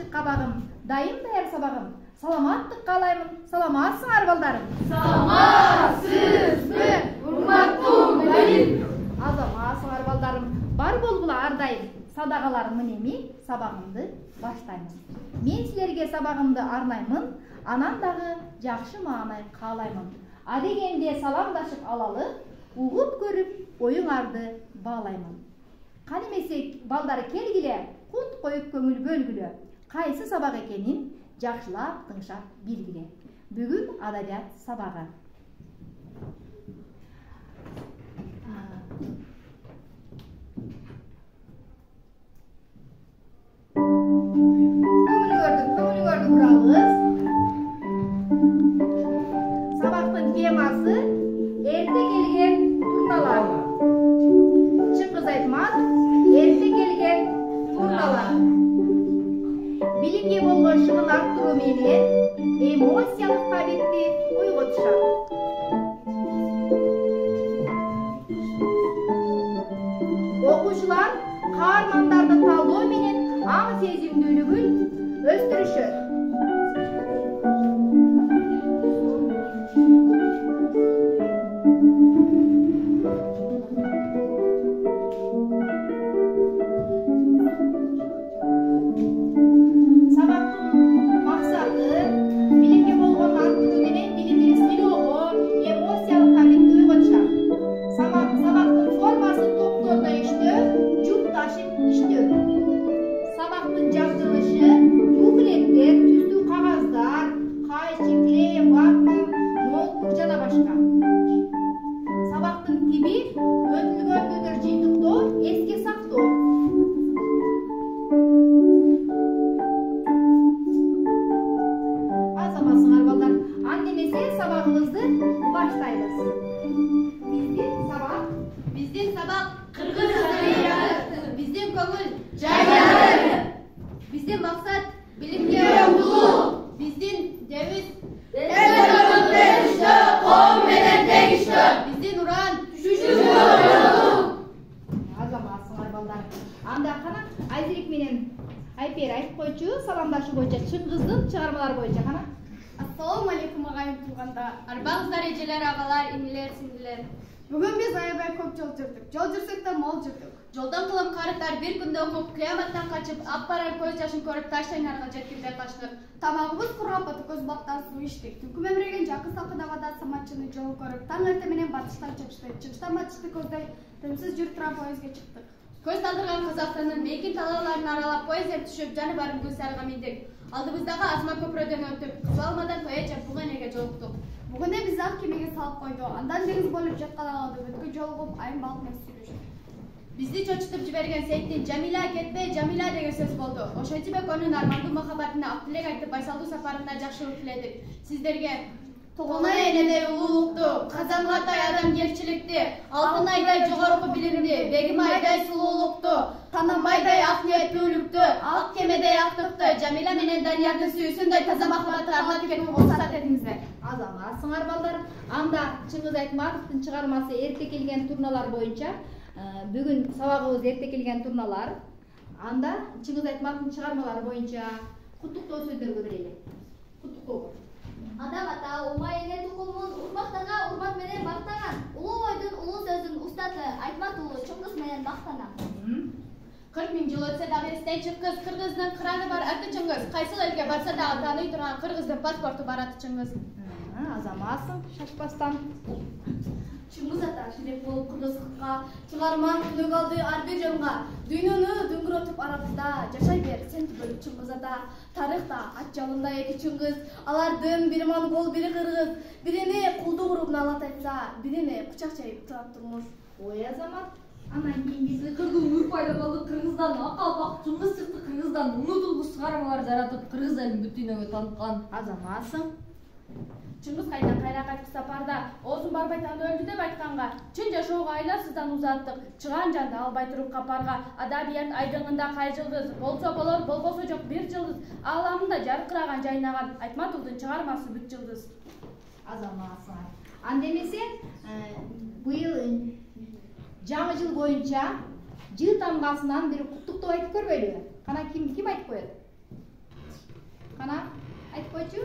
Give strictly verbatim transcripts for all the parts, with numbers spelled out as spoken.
ачык кабагым, дайым даяр сабагым. Саламаттык каалаймын. Саламатсыңар балдарым? Саламатсызбы, урматтуу мугалим? Азаматсыңар балдарым. Бар болгула ар дайым. Садагаларымын эми сабагымды баштаймын. Мен силерге сабагымды арнаймын, анан дагы жакшы маанай каалаймын. Адегенде саламдашып алалы, угуп көрүп оюңарды баалаймын. Кан эмесе балдар келгиле, кут коюп көңүл бөлгүлө. Кайсы сабак экенин жакшылап тыңшап билгиле. Бүгүн адабият сабагы. Көңүлүңөрдү, көңүлүңөрдү бурабыз. Сабактын темасы эрте келген турналар. Чыңгыз Айтматов эрте келген турналар. Билимге болгон шыгын арттыруу менен эмоциялык кабилетти ойготушат. Окуучулар каармандарды талдоо менен аң сезимдүүлүгүн өстүрүшөт. Бүгүн биз аябай көп жол жүрдүк. Жол жүрсөк да мол жүрдүк. Жолдон кылым карыктар бир күндө окуп, кыяматтан качып, аппаран көз жашын көрүп Таштайнарга жеткенде качтык. Тамагыбыз кургап атып, көз бактан суу ичтик. Түнкү мемиреген жакын салкын абада саматчыны жолу көрүп, таң эрте менен батыштан чыгыштык. Чыгыштан батышты көздөй тынымсыз жүрүп турган поездге чыктык. Көз талдырган Казакстандын мейкин талааларын аралап поездден түшүп, жаны барым Гүлсарыга миндик. Алдыбыздагы Азма көпүрөдөн өтүп, Кызылалмадан Тоече Буганеге жолуктук. Бүгүн биз ак кемеге салып койду. Андан деңиз болуп жаткан алды бүткүл жолугуп айым балык менен сүйлөшүп. Бизди чочутуп жиберген Сейиттин "Жамила кетпе, Жамила" деген сөз болду. Ошентип экөөнүн армандуу махабатына ак тилек айтып, байсалдуу сапарына жакшылык тиледик. Сиздерге Тогонай энедей улуулукту, Казангатай адамгерчиликти, Алтын айдай жогорку билимди, Бегим айдай сулуулукту, Танамбайдай ак ниеттүүлүктү, Ак кемедей актыкты, Жамила менен Даниярдын сүйүүсүндөй таза махабатты арлап кетип уруксат этиңиздер. Азаматсыңар балдар. Анда Чыңгыз Айтматовдун чыгармасы "Эрте келген турналар" боюнча бүгүн сабагыбыз "Эрте келген турналар". Анда Чыңгыз Айтматовдун чыгармалары боюнча куттуктоо сөздөргө берели. Куттуктоо. Адам ата умай эне тукумун урмактага урмат менен мактаган. Улуу ойдун улуу сөздүн устаты Айтмат уулу Чыңгыз менен мактанам. кырк миң жыл өтсө дагы эстен чыккыс, кыргыздын кыраны бар аты Чыңгыз. Кайсы элге барса дагы тааный турган кыргыздын паспорту бар аты Чыңгыз. Азаматсың, шашпастан. Чыңгыз ата шерек болуп кыргыздыкка, чыгарман күнөг алды ар бир жонго. Дүйнөнү дүңгүрөтүп арабызда, жашай бер сен түгөл Чыңгыз ата. Тарыхта ат жалында эки Чыңгыз, алардын бири монгол, бири кыргыз. Бирини кулдук уруп налат айтса, бирини бычак чайып турат турмуш. Ой Азамат, анан кийинкиси кыргыз урпайда болду, кыргыздан акалпак Чыңгыз чыкты, кыргыздан унутулгуч чыгармалар жаратып, кыргыз элин бүт дүйнөгө тааныткан. Азаматсың. Чыңгыз кайдан кайра кайтып сапарда, оозун барбай таны өлдү деп айтканга, чын жашоого айласыздан узаттык, чыган жанды албай туруп капарга, адабият айдыңында кай жылдыз, болсо болор, болбосо жок бир жылдыз, ааламында жаркыраган жайнаган Айтматовдун чыгармасы бүт жылдыз. Азаматсың. Анда эмесе, быйыл жаңы жыл боюнча жыл тамгасынан бир куттуктоо айтып көрбөйлүбү? Кана ким ким айтып коет? Кана айтып койчу.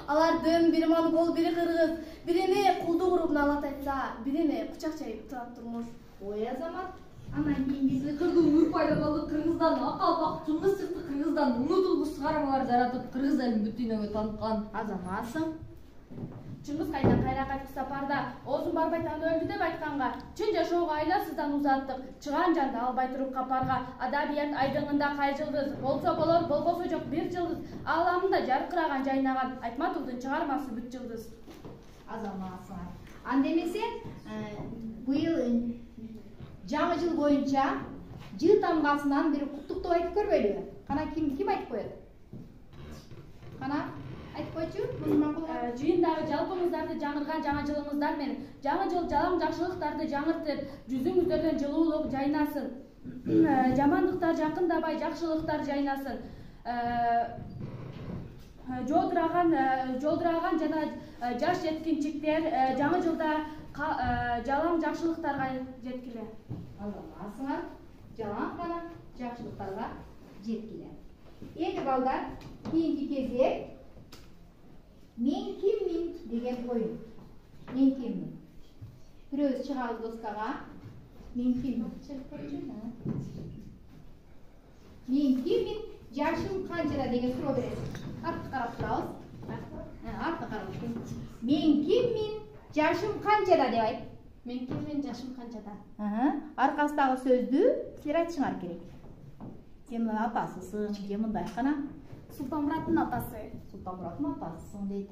Алардын бири монгол, бири кыргыз, бирини кулдук уруп налат айтса, бирини кучак чайып турат турмуш. Ой азамат, анан кийинки Сыйкырдуу нур пайда болду, Кыргыздан акалпак, чыңгыз сыкты Кыргыздан унутулгус чыгармалар жаратып, Кыргыз элин бүт дүйнөгө таныккан. азаматсың. Чыңгыз кайдан кайра кайтып сапарда оозун барбайтан өлдү деп айтканга, чын жашоого айласыздан узаттык, чыган жанды албай туруп капарга, адабият айдыңында кай жылдыз, болсо болор, болбосо жок бир жылдыз, ааламында жаркыраган жайнаган Айтматовдун чыгармасы бүт жылдыз. Азаматсың. Анда эмесе, быйыл жаңы жыл боюнча жыл тамгасынан бир куттуктоо айтып көрбөйлүбү? Кана ким ким айтып коет? Кана айтып койчу, муну макулга. Жыйындагы жалпыңыздарды жаңырган жаңы жылыңыздар менен жаңы жыл жалаң жакшылыктарды жаңыртып, жүзүңүздөрдөн жылуулук жайнасын. Жамандыктар жакындабай, жакшылыктар жайнасын. Жолдураган жолдураган жана жаш жеткинчиктер жаңы жылда жалаң жакшылыктарга жеткиле. Азаматсыңар, жалаң гана жакшылыктарга жеткиле. Эми балдар, кийинки кезек мен киммин деген оюн. Мен киммин? Бирөөбүз чыгабыз доскага. Мен киммин? Мен киммин? Жашым канчада деген суроо бересиз. Артка карап турабыз. Артка карап турабыз. Мен киммин? Жашым канчада деп айт. Мен киммин, жашым канчада? Аркасындагы сөздү силер айтышыңар керек. Сен мына атасысың, же мындай кана? Султанмураттын атасы. Султанмураттын атасысың дейт.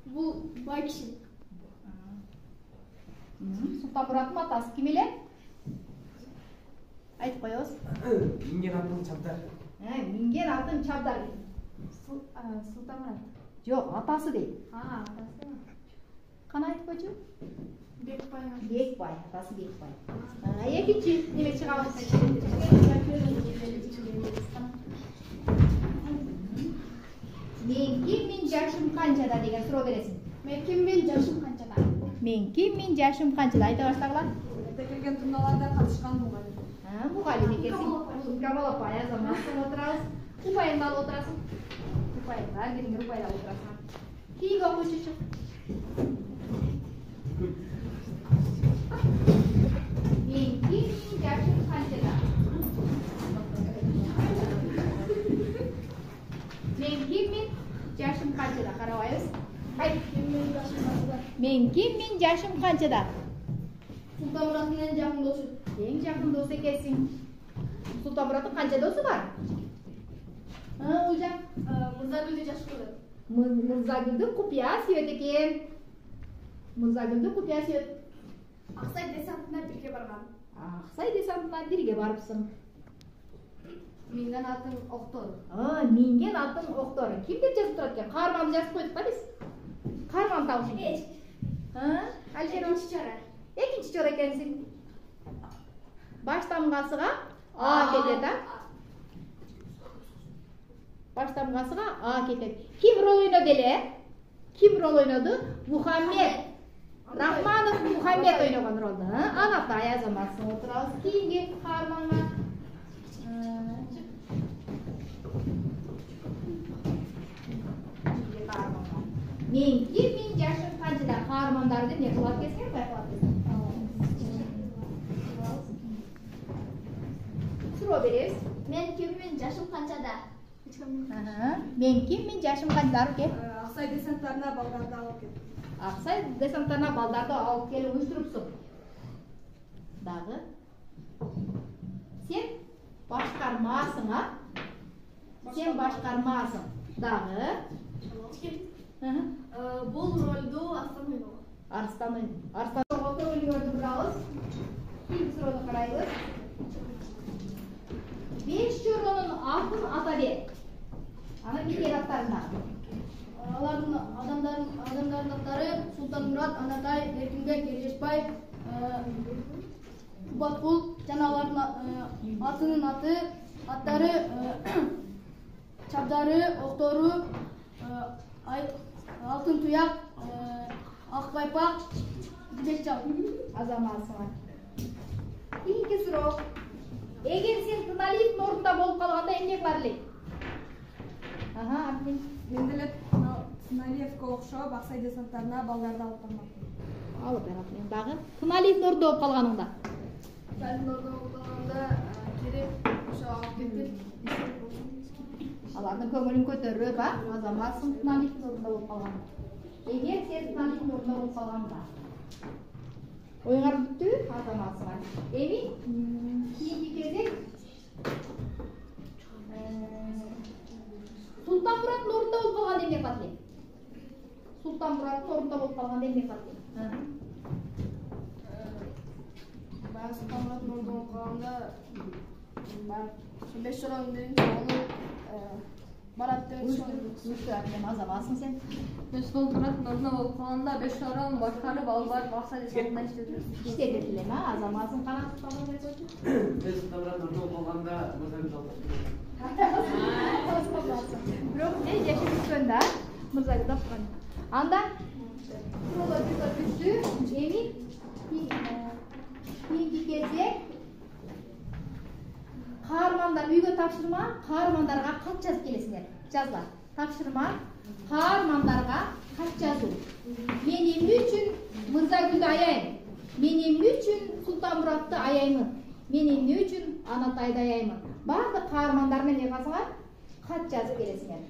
Бул бай киши. Султанмураттын атасы ким эле? Айтып коебуз. Минген атын Чабдар. Минген атын Чабдар дейт. Султанмурат. Жок, атасы дейт. А, атасы. Кана айтып койчу? Бекбай. Бекбай, атасы Бекбай. Экинчи неме чыгабыз. Мен киммин, жашым канчада деген суроо бересиң. Мен киммин, жашым канчада? Мен киммин, жашым канчада айта баштагыла. Эрте келген тундаларда катышкан мугалим. Ha, мугалим экенсиң. Камал апай, азаматсың отурабыз. Упайыңды алып отурасың. Упайыңдар, бириңер упайды алып отурасың. Кийинки окуучучу. Мен киммин, жашым канчада? Мен киммин, жашым канчада? Карабайбыз. Айт. Мен киммин, жашым канчада? Султанмураттын эң жакын досу. Эң жакын досу экенсиң. Султанмураттын канча досу бар? А, Улжан? Мырзагүлдү жакшы көрөт. Мырзагүлдүн купуя сүйөт экен. Мырзагүлдүн купуя сүйөт. Аксай десантына бирге барган. Аксай десантына бирге барыпсың. Минген атын Октор. А, минген атын Октор. Ким деп жазып турат экен? Каарманды жазып койдук ба биз? Каарман табыш экен. Ha, Алишер Экинчи чара. Экинчи чора экенсиң. Баш тамгасыга А кетет, а? Баш тамгасыга А кетет. Ким рол ойноду эле? Ким рол ойноду? Мухаммед. Рахманов Мухаммед ойногон ролду. Анатай азаматсың отурабыз. Кийинки каарманга мен киммин, жашым канчада? Каармандарды эмне кылат десең, байкалат десең. Суроо беребиз. Мен киммин, жашым канчада? Мен киммин, жашым канчада? Ке? Аксай десанттарына балдарды алып кел. Аксай десанттарына балдарды алып келип уюштурупсуң. Дагы сен башкармасың, а? Сен башкармасың. Дагы Бул ролду Арстан ойногон. Арстан Арстан Октор рөлүн көрдүбүз. Кийинки суроону карайбыз. Беш чоронун атын ата бер. Аны бир аттарына. Алардын адамдардын адамдардын аттары Султанмурат, Анатай, Эркинбек, Эржешбай, Кубаткул жана алардын атынын аты, аттары Чабдары, Октору, Алтын туяк, Ак байпак, Жибекжал. Азаматсыңар. Кийинки суроо. эгер сен Тыналиевдин ордунда болуп калганда эмне кылар элең? Ага, Армен. Мен деле Тыналиевке окшоп Аксай десанттарына балдарды алып бармакмын. Алып барат мен дагы. Тыналиевдин ордунда болуп калганыңда. Тыналиевдин ордунда болуп калганда керек ошо алып кетип Алардын көңүлүн көтөрүп, а? Азаматсың Тыналиевдин ордунда болуп калганда. Эгер сен Тыналиевдин ордунда болуп калганда. Оюңар бүттү, Азаматсың. Эми кийинки кезек Султанмураттын ордунда болуп калганда эмне кылат элең? Султанмураттын ордунда болуп калганда эмне кылат элең? баягы Султанмураттын ордунда болуп калганда баягы беш чоронун биринчи оğlu барат деп Мен Азаматсың сен. Мен Султанмураттын ордунда болуп калганда беш чоронун башкарып алып барып Аксай десантына иштетем. İşte dediler ha, Azamazın kanat tutamını koydu. Ben Sultanmurат ордунда болгондо мырзагүл алып Бирок не жашып өткөндө, мырзагүл тапкан. Анда Султан бүтү, эми кийинки кезек каармандар үйгө тапшырма, каармандарга кат жазып келесиңер. Жазла. Тапшырма, каармандарга кат жазуу. Мен эмне үчүн Мырзагүлдү аяйм? Мен эмне үчүн Султанмуратты аяймын? Мен эмне үчүн Анатайды аяймын? Бардык каармандар менен эмне кыласыңар? Кат жазып келесиңер.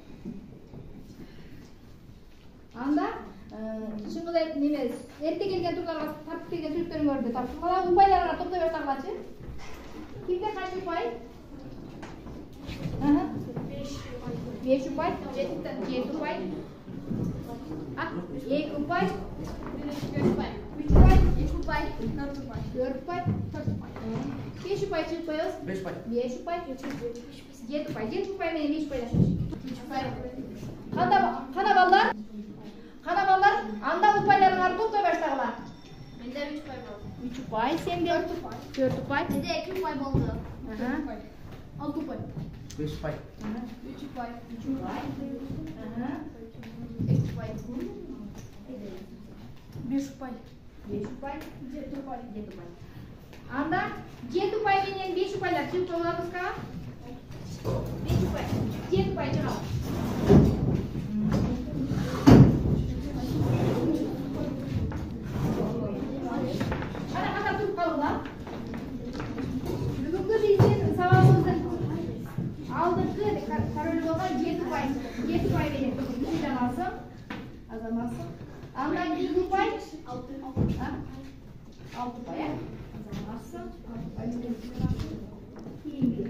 Анда чыңгыз айтып неме эрте келген турларга тартып келген сүрөттөрүңөрдү тапшыргыла, упайларга топтой берсаңларчы. Кимде канча упай? Ага. беш упай, жети упай. А, эки упай, үч упай, эки упай, төрт упай, беш упай чыкпайбыз. беш упай. беш упай, жети упай, жети упай менен беш упайлашабыз. Кандай кана балдар? Кана балдар, анда упайларыңарды топтой берсаңлар. Менде үч упай болду. үч упай, сенде төрт упай. Менде эки упай болду. Ага. алты упай. беш упай. үч упай. үч упай. Ага. эки упай. беш упай. беш упай. жети упай. жети упай. Анда жети упай менен беш упайлар чыгып болобузга? беш упай. жети упай чыгат. Кана кана туруп калыңдар. Бүгүнкү биздин сабагыбыздын алдыңкы король болгон жети упай, жети упай менен Азаматсың. Азаматсың. Андан кийинки упай алты упай, э? Азаматсың. Кийинки.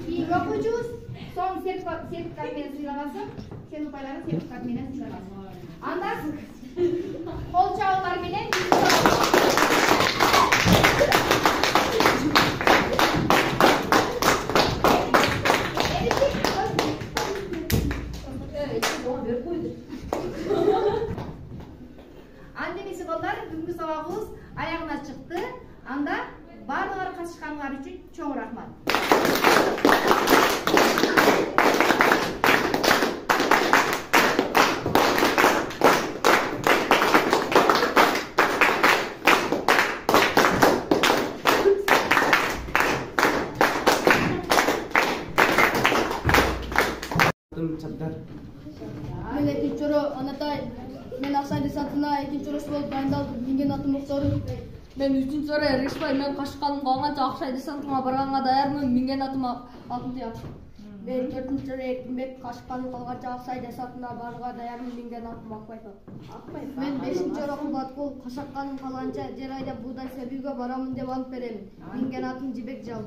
Кийинки окуучубуз соң сертификат менен сыйлагансың. Сен упайларын сертификат менен сыйлагансың. Андан кол чабуулар менен Андемеси балдар, бүгүнкү сабагыбыз аягына чыкты. Анда баардыгылар катышканыңар үчүн чоң рахмат. Çabdar. Мен экинчи жолу Анатай, мен Аксай десантына экинчи жолушу болуп дайындалдым. Менин атым Муктаров. Мен үчүнчү жолу Ришбай, мен кашканым калганча Аксай десантына барганга даярмын. Менин атым Алтынтуяк. Мен төртүнчү жолу Эркинбек кашканым калганча Аксай десантына барууга даярмын. Менин атым Акбайпов. Мен бешинчи жолу Кубаткул кашакканым калганча жер айдап буудай себүүгө барамын деп ант берем. Менин атым Жибек Жал.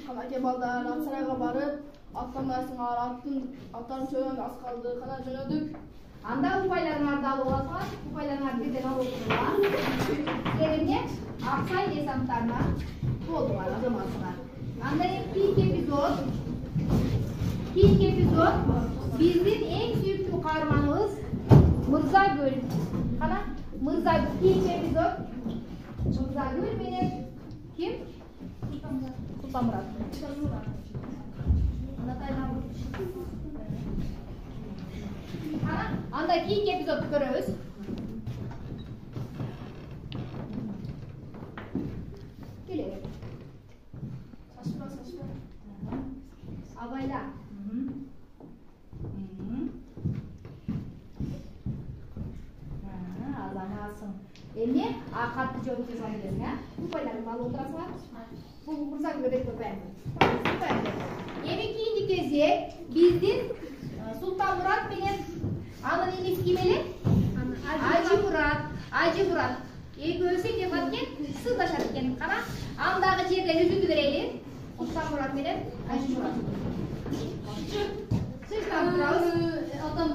Канаке балдар Аксайга барып, аттанасыңар, аттын аттан чөйгөн аз калды, кана жөнөдүк. Анда упайларыңарды алып аласыңар, упайларыңарды бирден алып отуруңар. Силер эмне? Аксай десанттарына болдуңар, Азаматсыңар. Анда эми кийинки эпизод, кийинки эпизод биздин эң сүйүктүү каарманыбыз Мырзагүл. Кана Мырзагүл кийинки эпизод Мырзагүл менен ким? Султанмурат. Анда кийинки эпизодду көрөбүз. Келе. Эми а катты жооп жазган элесиң, а? Упайларды алып отурасыңар. Бул мырзаңызга берип койгояйын. Эми кийинки кезек биздин Султанмурат менен анын инеси ким эле? Ажимурат. Ажимурат. Экөөсү эмне кылат экен? Сырлашат экен. Кана андагы жерден үзүндү берели. Султанмурат менен Ажимурат. Сыйлап турабыз. Атам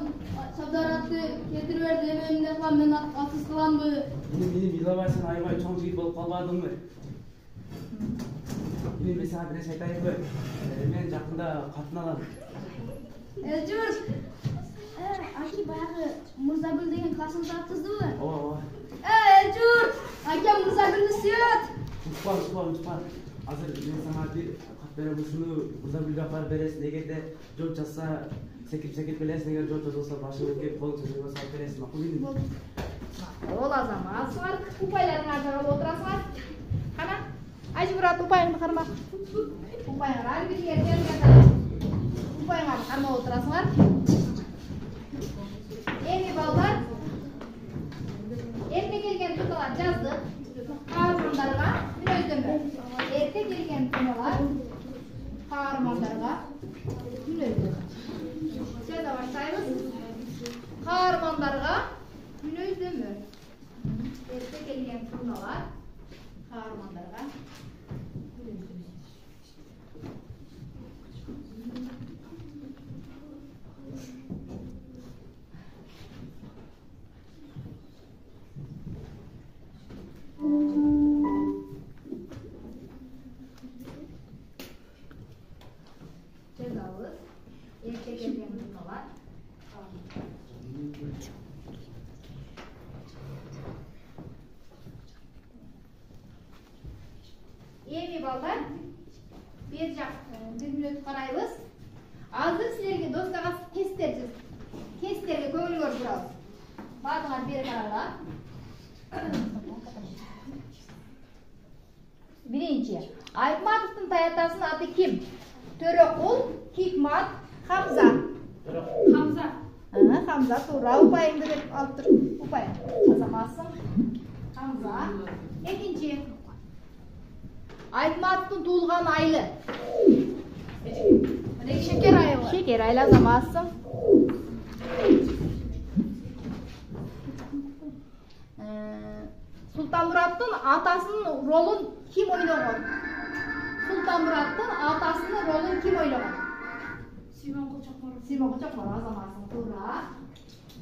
Сабдаратты кетирип берди, эмне кылам, мен атсыз кыламбы? Мени ыйлабай сен аябай чоң жигит болуп калбадыңбы? Эми мен сага бир нерсе айтайынбы? Мен жакында катын алам. Элжурт. Аки баягы Мырзагүл деген классыңызда кыздыбы? Ооба, ооба. Элжурт. Акем Мырзагүлдү сүйөт. Утпа, утпа, утпа. Азыр мен сага бир кат берем, ушуну Мырзагүлгө апарып бересиң. Эгерде жооп жазса, секип-секип келесиң, эгер жооп жазылса башыңы кеп колуң сөзүнгө салып бересиң. Макул дейм. Ол азаматсыңар, упайларыңарды алып отурасыңар. Кана, Ажимурат упайыңды карма. Упайыңар ар бирге берген. Упайыңарды кармап отурасыңар. Эми балдар, эрте келген туналар жаздык. Каармандарга мүнөздөмө. Эрте келген туналар каармандарга мүнөздөмө. Сөз баштайбыз. Каармандарга мүнөздөмө. Эрте келген туналар каармандарга мүнөздөмө. Жазабыз. Эрте келген туналар. Эми балдар, бер жак бир мүнөт карайбыз. Азыр силерге досторго тесттер тесттерге көңүл көрүп бардыңар бери карагыла. Биринчи, Айтматовдун таятасынын аты ким? Төрөкул, Хикмат, Хамза. Хамза. Ага, Хамза туура. Упайыңды деп алып тур. Упай. Жазамасың. Хамза. Экинчи, Айтматовдун туулган айы. Мына шекер айы бар. Шекер айы жазамасың. Султанмураттын атасынын ролун ким ойногон? Султанмураттын атасынын ролун ким ойногон? Симон Кочокморов. Симон Кочокморов жазамасың. Туура.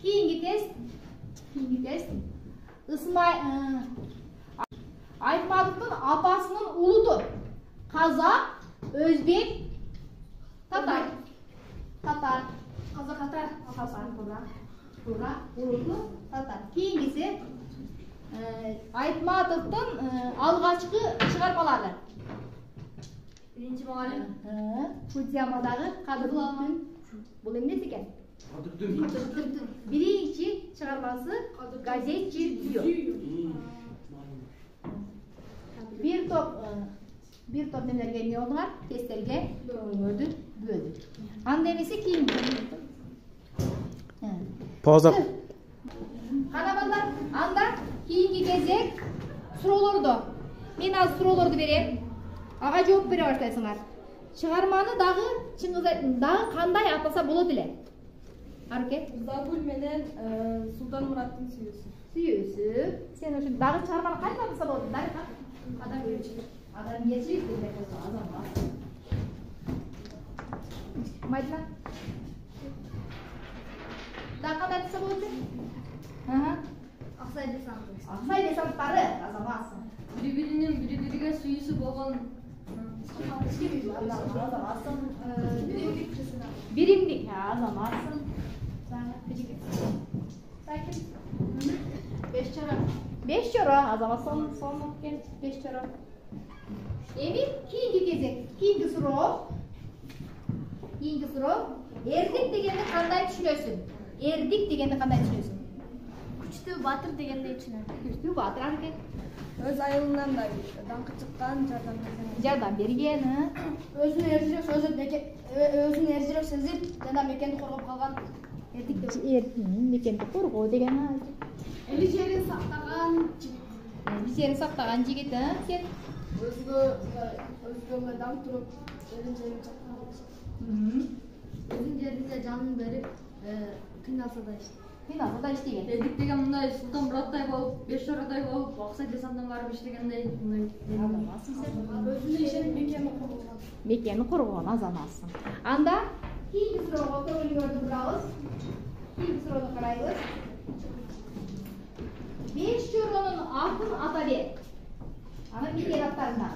Кийинки тест. Кийинки тест. Ысмай Айтматовдун апасынын улуту. Казак, өзбек, татар. Татар. Казак татар. Татар, туура. Туура. Улуту татар. Кийинкиси Айтматовдун алгачкы чыгармалары. Биринчи мугалим. Фудзиямадагы Кадырлан. Бул эмнеси экен? Кадырдын. Биринчи чыгармасы газет Жир. Бир топ бир топ немелерге эмне болдуңар? Тесттерге көңүлдү бөлдүк. Анда эмеси кийинки. Пауза. Кана балдар, анда кийинки кезек суроолорду. Мен азыр суроолорду берем. Ага жооп бере баштайсыңар. Чыгарманы дагы чыңгыз дагы кандай атаса болот эле? Арке? Мырзагүл менен Султанмураттын сүйүүсү. Сүйүүсү. Сен ошо дагы чыгарманы кандай атаса болот? Дарыка. Адамгерчилик. Адамгерчилик деп азамат. Майдна. Дагы кандай атаса болот эле? Ага. Аксай десанты. Аксай десанттары азаматсың. Бири-биринин бири-бириге сүйүүсү болгон Биримдик азаматсың. Беш чара. Беш чара азаматсың. Сонун экен беш чара. Эми кийинки кезек, кийинки суроо. Кийинки суроо. Эрдик дегенди кандай түшүнөсүң? Эрдик дегенди кандай түшүнөсүң? Күчтүү батыр дегенди түшүнөм. Күчтүү батыр анткени Өз айылынан да даңкы чыккан, жардам берген. жардам берген. Өзүн эржирөөк сөзүп, өзүн эржирөөк сезип, жана мекенди коргоп калган эрдик деп. Мекенди коргоо деген. Эли жерин сактаган сактаган жигит. Биздерди сактаган жигит, э? Сен? Өзгө өзгөгө даң туруп, өзүн жерин чакырып. Өзүн жеринде жанын берип, кыйналса да иштейт. Кыйналса да иштеген. Эдик деген мындай Султан Мураттай болуп, беш чорадай болуп, аксай десанттан барып иштегендей мындай. Азаматсың сен. Өзүнө ишенип мекени курган. Мекени курган азаматсың. Анда кийинки суроого көңүлүңөрдү бурабыз. Кийинки суроону карайбыз. Беш чоронун атын ата бер. Анын биздер аттарында.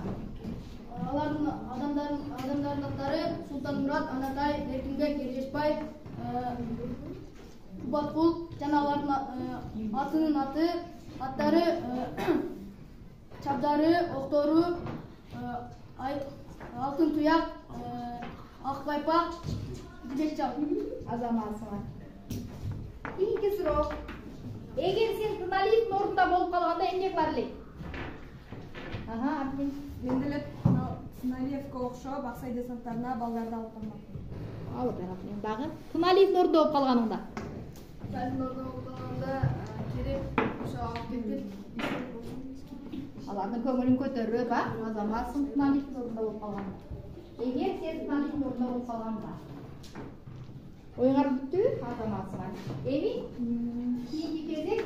Алардын адамдардын адамдардын аттары Султан Мурат, Анатай, Эркинбек, Ержешбаев, Кубаткул жана алардын атынын аты, аттары Чабдары, Октору, Алтын Туяк, Ак Байпак, Дибекжан. Азаматсың. Кийинки суроо. Эгер сен Тыналиевдин ордунда болуп калганда эмне кылар элең? Ага, Армин. Мен деле Сыналиевке окшоп Аксай десанттарына балдарды алып бармак. Алып барам. Дагы Тыналиевдин ордунда болуп калганыңда. Тыналиевдин ордунда болуп калганда керек ошо алып кетип Алардын көңүлүн көтөрүп, а? Азаматсың Тыналиевдин ордунда болуп калганда. Эгер сен Тыналиевдин ордунда болуп калганда. Оюңар бүттү, азаматсың. Эми кийинки кезек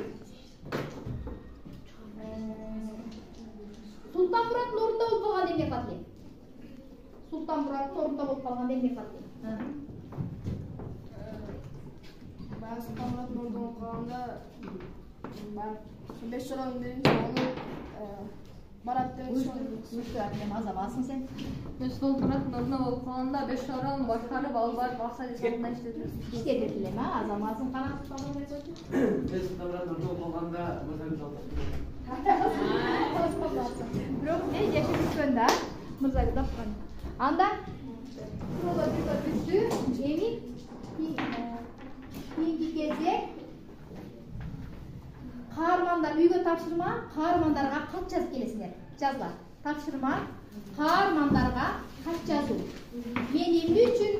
Султан Мураттын ордунда болуп калганда эмне кылат элең? Султан Мураттын ордунда болуп калганда эмне кылат элең? баягы Султан Мураттын ордунда болуп калганда баягы беш чоронун биринчи аны барат деп Уйшуратем, азаматсың сен. Мен Султан Мураттын ордунда болуп калганда беш чорон башкарып алып барып Аксай десантына иштетем. Иштетет элем, а? Азаматсың канат салып койчу. Мен Султан Мураттын ордунда болуп калганда мырзагүл алып. Бирок мен жашап өткөн да, мырзагүл тапкан. Анда суроолор бирөө бүттү. Эми кийинки кезек каармандар үйгө тапшырма, каармандарга кат жазып келесиңер. Жазгыла. Тапшырма, каармандарга кат жазуу. Мен эмне үчүн